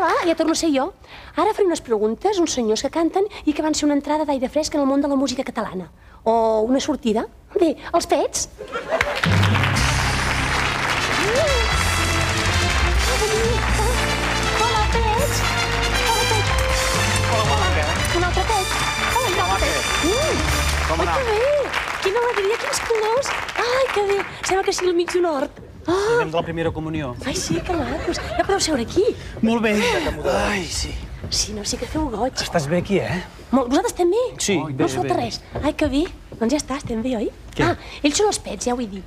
Hola, ja torno a ser jo. Ara faré unes preguntes, uns senyors que canten i que van ser una entrada d'aire fresc en el món de la música catalana. O una sortida. Bé, els pets. Hola, pets. Hola, pets. Hola, un altre pet. Hola, un altre pet. Com anava? Ai, que bé. Quina alegria, quins colors. Ai, que bé. Sembla que sigui el mig d'un hort. Anem de la primera comunió. Ai, sí, que macos. Ja podeu seure aquí. Molt bé. Ai, sí. Sí, no, sí que feu goig. Estàs bé aquí, eh? Vosaltres també? Sí, No us falta res. Ai, que bé. Doncs ja està, estem bé, oi? Què? Ah, ells són els pets, ja ho he dit.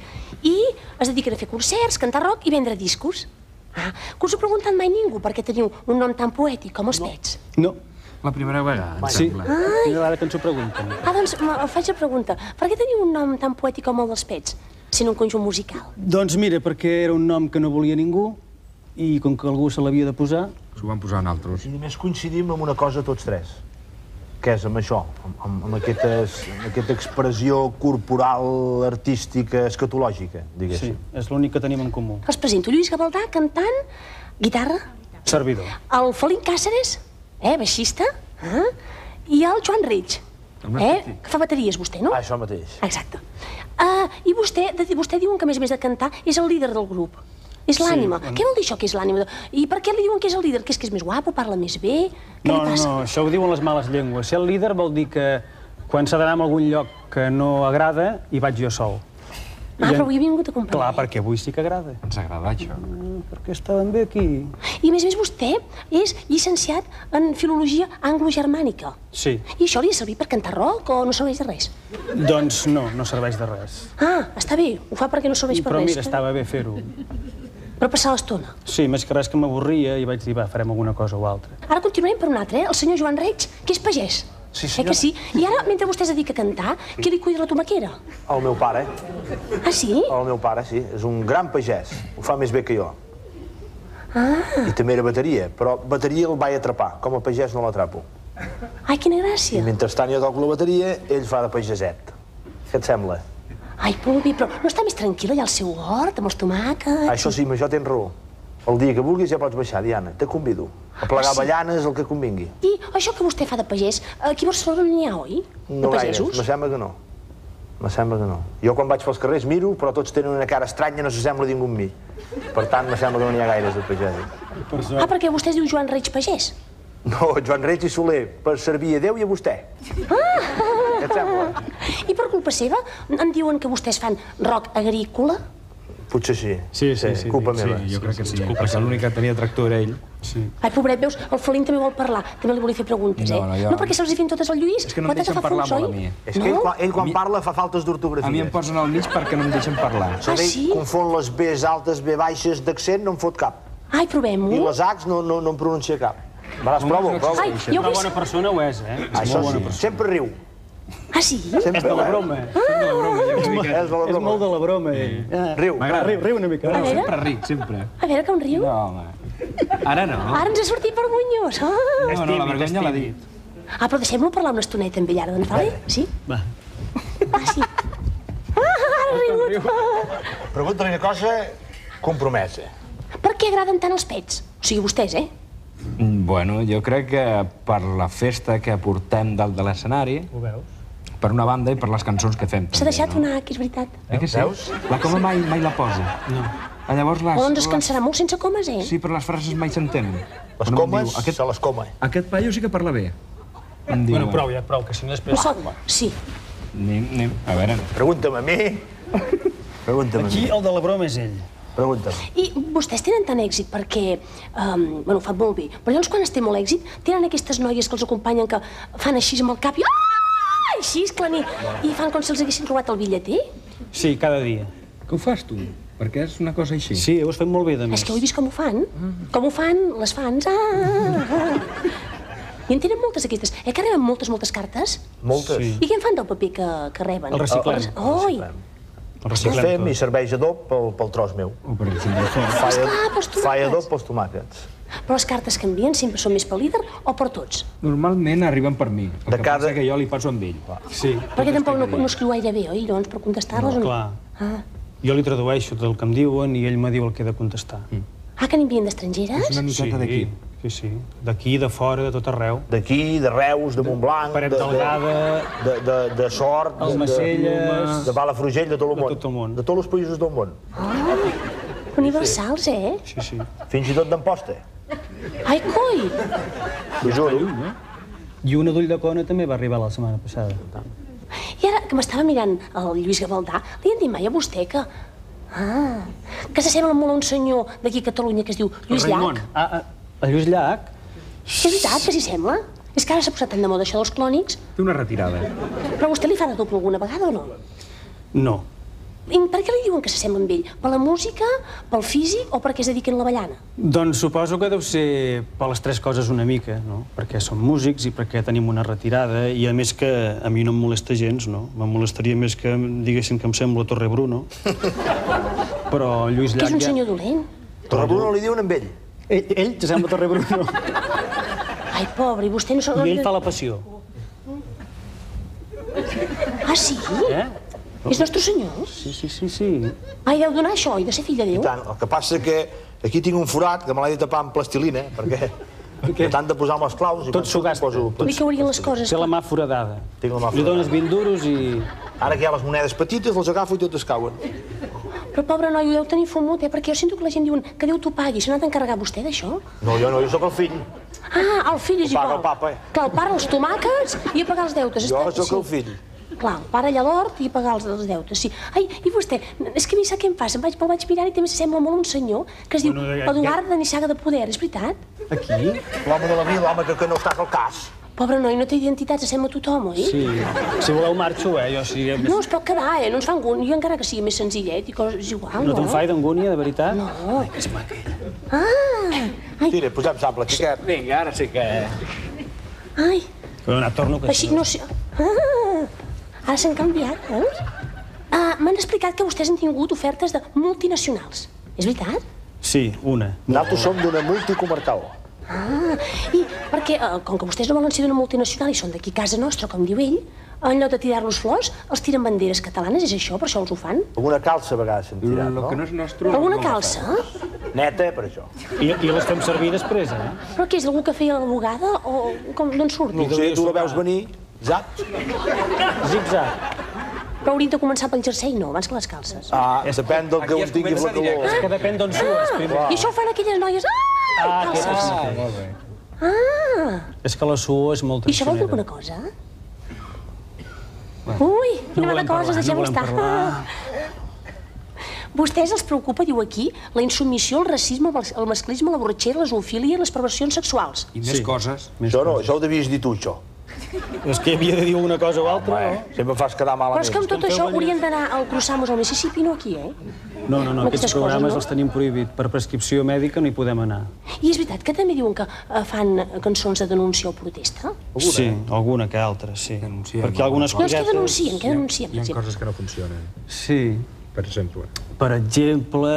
I es dediquen a fer concerts, cantar rock i vendre discos. Ah, que us ho preguntat mai ningú per què teniu un nom tan poètic com els pets? No. La primera vegada, em Sí, sembla. primera vegada que ens ho pregunten. Ah, doncs faig la pregunta. Per què teniu un nom tan poètic com el dels pets, sent un conjunt musical? Doncs mira, perquè era un nom que no volia ningú i com que algú se l'havia de posar... S'ho van posar en altres. I només coincidim en una cosa tots tres, que és amb això, amb aquesta expressió corporal, artística, escatològica, Sí, diguéssim. és l'únic que tenim en comú. Els presento Lluís Gavaldà, cantant, guitarra, Servidor. el Felín Càceres, baixista, i el Joan Reig, que fa bateries, vostè, no? Ah, això mateix. Exacte. I vostè diuen que, a més de cantar, és el líder del grup. És l'ànima. Què vol dir això, que és l'ànima? I per què li diuen que és el líder? Que és més guapo, parla més bé? Què li passa? No, això ho diuen les males llengües. Ser el líder vol dir que quan s'ha d'anar a algun lloc que no agrada, hi vaig jo sol. Però avui he vingut a acompanyar. Clar, perquè avui sí que agrada. Ens agrada això. Perquè estàvem bé aquí. I, a més, vostè és llicenciat en filologia anglo-germànica. Sí. I això li ha servit per cantar rock o no serveix de res? Doncs no, no serveix de res. Ah, està bé. Ho fa perquè no serveix per Però res. mira, estava bé fer-ho. Per passar l'estona. Sí, més que res que m'avorria i vaig dir, va, farem alguna cosa o altra. Ara continuarem per un altre, el senyor Joan Reig, que és pagès. Sí, senyora. Que sí? I ara, mentre vostè es dedica a cantar, qui li cuida la tomaquera? El meu pare, Ah, sí? el meu pare, sí, és un gran pagès. Ho fa més bé que jo. I també era bateria, però bateria el vaig atrapar. Com a pagès no l'atrapo. Ai, quina I gràcia. mentrestant jo toco la bateria, ell fa de pageset. Què et sembla? Ai, molt bé, però no està més tranquil allà al seu hort, amb els tomàquets? Això sí, amb això tens raó. El dia que vulguis ja pots baixar, Diana, te convido. A plegar avellanes, el que convingui. I això que vostè fa de pagès, aquí a Barcelona n'hi ha, oi? No de gaires, pagesos? me sembla que no. Me sembla que no. Jo quan vaig pels carrers miro, però tots tenen una cara estranya, no s'assembla ningú amb mi. Per tant, me sembla que no n'hi ha gaires de pagesos. Ah, perquè vostè es diu Joan Reig Pagès. No, Joan Reig i Soler, per servir a Déu i a vostè. Què et sembla? I per culpa seva em diuen que vostès fan rock agrícola? Potser sí. Sí. Culpa Sí, meva. jo crec que sí, perquè l'únic que tenia tractor era ell. Sí. Ai, pobret, veus, el Felín també vol parlar. També li volia fer preguntes, No, no, jo- No, perquè se'ls hi fem totes al Lluís. És que no em deixen parlar molt a mi. És que ell quan parla fa faltes d'ortografia. A mi em posen al mig perquè no em deixen parlar. Ah, sí? Confon les Bs altes, B baixes, d'accent, no em fot cap. Ai, I provem-ho. les Hs no em pronuncia cap. Va, prova. Ai, jo Una vull... bona persona ho és, eh? Això sí, sempre riu. Ah, sí? Sempre, És de la broma. És de la És broma. molt de la broma, ell. Riu. Riu una mica. A veure, Sempre ric, sempre. a veure que un riu. No, home. Ara no. Ara ens ha sortit vergonyós. Ah, No, la vergonya l'ha dit. però deixem-lo parlar una estoneta amb ell ara, doncs, vale? Sí? Va. Ah, sí. Ara riu. Pregunta-li una cosa compromesa. Per què agraden tant els pets? O sigui, vostès, Bueno, jo crec que per la festa que portem dalt de l'escenari, Ho veus? per una banda i per les cançons que fem. S'ha deixat una que és veritat. Eh que sí? Veus? La coma mai la posa. No. Llavors les... O doncs es cansarà molt sense comes, Sí, però les frases mai s'entenen. Les Quan em comes, diu, se les come. Aquest paio sí que parla bé. Em diu, Bueno, prou, que si no després... Sí. Anem, a veure... Pregunta'm a mi. Pregunta'm a Aquí mi. el de la broma és ell. Pregunta'm. I vostès tenen tant èxit perquè, bueno, ho fan molt bé, però llavors quan es té molt èxit, tenen aquestes noies que els acompanyen que fan així amb el cap i així, esclaner, i fan com si els haguessin robat el bitlleter? Sí, cada dia. Què ho fas, tu? Perquè és una cosa així. Sí, ho has fet molt bé, de més. És que ho he vist com ho fan. Com ho fan les fans. I en tenen moltes aquestes. Que reben moltes cartes? Moltes. Sí. I què en fan del paper que reben? El reciclem. Oi! El El reciclem fem tot. i serveix adob pel tros meu. O per exemple, Esclar, pels tomàquets. Fa adob pels tomàquets. Però les cartes que envien sempre són més pel líder o per tots? normalment arriben per mi. El De que cada- passa que jo li passo amb ell. Sí, Perquè tampoc no escriu gaire bé, oi? Llavors, per contestar-les... clar. Ah. Jo li tradueixo tot el que em diuen i ell me diu el que he de contestar. Ah, que n'envien d'estrangeres? És una miqueta d'aquí. Sí. D'aquí, de fora, de tot arreu. D'aquí, de Reus, de Montblanc, Paret Delgada, de Sort, Almacelles, de Palafrugell, de tot el món. de tot el món. De tots els països del món. Universals, eh? Sí. Fins i tot d'Amposta. Ai, coi! T'ho juro. I una d'Ulldecona també va arribar la setmana passada. I ara que m'estava mirant el Lluís Gavaldà, li han dit mai a vostè que... Ah, que s'assembla molt a un senyor d'aquí a Catalunya que es diu Lluís Raimon. Llach. El Lluís Llach És veritat que s'hi sembla? És que ara s'ha posat tan de moda això dels clònics. Té una retirada. Però a vostè li fa de doble alguna vegada o no? no. I per què li diuen que s'assembla amb ell? Per la música, pel físic o perquè es dediquen a la ballana? Doncs suposo que deu ser per les tres coses una mica, no? Perquè som músics i perquè tenim una retirada i a més que a mi no em molesta gens, no? Me'n molestaria més que em diguessin que em sembla Torre Bruno. Però Lluís Que Llach és un senyor dolent. Torrebruno li diuen amb ell. Ell s'assembla Torre Bruno. Ai, pobre, i vostè no... I ell fa la passió. Ah, sí? És nostre senyor? Sí. Ai, deu donar això, i de ser fill de I Déu. tant. El que passa que aquí tinc un forat que me l'he de tapar amb plastilina, perquè de tant de posar amb les claus... Tot s'ho gasta. Li caurien les coses. Té la mà foradada. Tinc la mà Li dones 20 duros i... Ara que hi ha les monedes petites, les agafo i totes cauen. Però, pobre noi, ho deu tenir fumut, perquè jo sento que la gent diuen que Déu t'ho pagui. Se n'ha d'encarregar vostè, d'això? No, jo sóc el fill. Ah, el fill és Ho paga igual. el papa, Clar, el pare els tomàquets i a pagar els deutes. Jo Està- sóc el fill. Clar, el pare allà a l'hort i a pagar els deutes, sí. Ai, i vostè, és que a mi sap què em passa? Me'l vaig mirar i també s'assembla molt a un senyor que es diu Eduard de Nissaga de Poder, és veritat? Aquí? L'home de la vila, l'home que no està al cas. Pobre noi, no té identitat, s'assembla a tothom, oi? Sí. Si voleu marxo, Jo sí... No, es pot quedar, no ens fa angúnia, jo encara que sigui més senzillet i coses igual, no? No te'n fai d'angúnia, de veritat? No. Que és maca, ella. Ah! Ai, Tira, posem sable, xiquet. Vinga, ara sí que... ai, Però no, torno que així no sé... Ah! Ara s'han canviat, veus? M'han explicat que vostès han tingut ofertes de multinacionals. És veritat? Sí, una. Nosaltres som d'una multicomarcal. Ah, i perquè, com que vostès no volen ser d'una multinacional i són d'aquí a casa nostra, com diu ell, en lloc de tirar-los flors, els tiren banderes catalanes, és això? Per això els ho fan? Alguna calça a vegades s'han tirat, Lo no? que no és nostre... Alguna no ho calça? Neta, per això. I les fem servir després, Però què és, algú que feia la bugada o d'on surt? No ho sé, tu la veus venir, zap. Zig-zag. Però hauríem de començar pel jersei, no, abans que les calces. Depèn del que Aquí un es tingui comença la calor. És que depèn d'on sues, primer. I això ho fan aquelles noies... Ah, calces! Molt bé. És que la suor és molt I això vol dir traicionera. alguna cosa? Ui, quina mala cosa, deixem-ho estar. Vostès els preocupa, diu aquí, la insubmissió, el racisme, el masclisme, la borratxera, la zoofilia i les perversions sexuals. I més coses. Això no, això ho devies dir tu, això. És que havia de dir una cosa o altra, Sempre em fas quedar Però és que amb malament. tot això haurien d'anar al Cruzamos al Mississippi, no aquí, eh? no? No, Amb aquests aquestes coses, programes no? els tenim prohibit. Per prescripció mèdica no hi podem anar. I és veritat que també diuen que fan cançons de denúncia o protesta? Sí, alguna que altra, sí. Denunciem Perquè algunes Doncs què cosetes... denuncien, què denuncien? Hi ha coses que no funcionen, Sí. per exemple. Per exemple,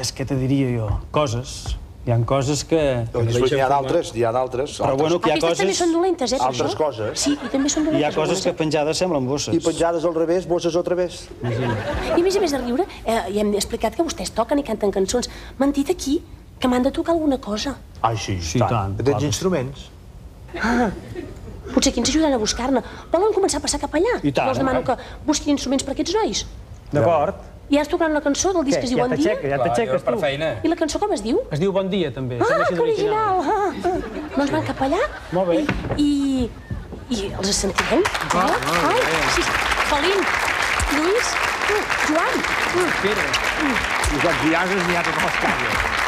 és que te diria jo, coses. Hi ha coses que... Doncs n'hi ha d'altres, n'hi ha d'altres. Però bueno, que hi ha Aquestes també coses... són dolentes, per Altres això? coses. Sí, i també són dolentes. Hi ha coses que algunes, penjades semblen bosses. I penjades al revés, bosses al través. I a més de riure, ja hem explicat que vostès toquen i canten cançons. M'han dit aquí que m'han de tocar alguna cosa. Ai, sí, Sí, tant, Que tens clar. instruments. Potser aquí ens ajudaran a buscar-ne. Volen començar a passar cap allà? I tant. Jo els demano que busquin instruments per aquests nois. D'acord. I ara es tocaran una cançó del disc que es diu Bon Dia. Ja t'aixeques, per tu. feina. I la cançó com es diu? Es diu Bon Dia, també. Ah, Sembla així que original! Doncs van cap allà. Molt bé. I els sentirem. Ai, sí, Felín, Lluís, Joan. I quan viajes n'hi ha tot les cases.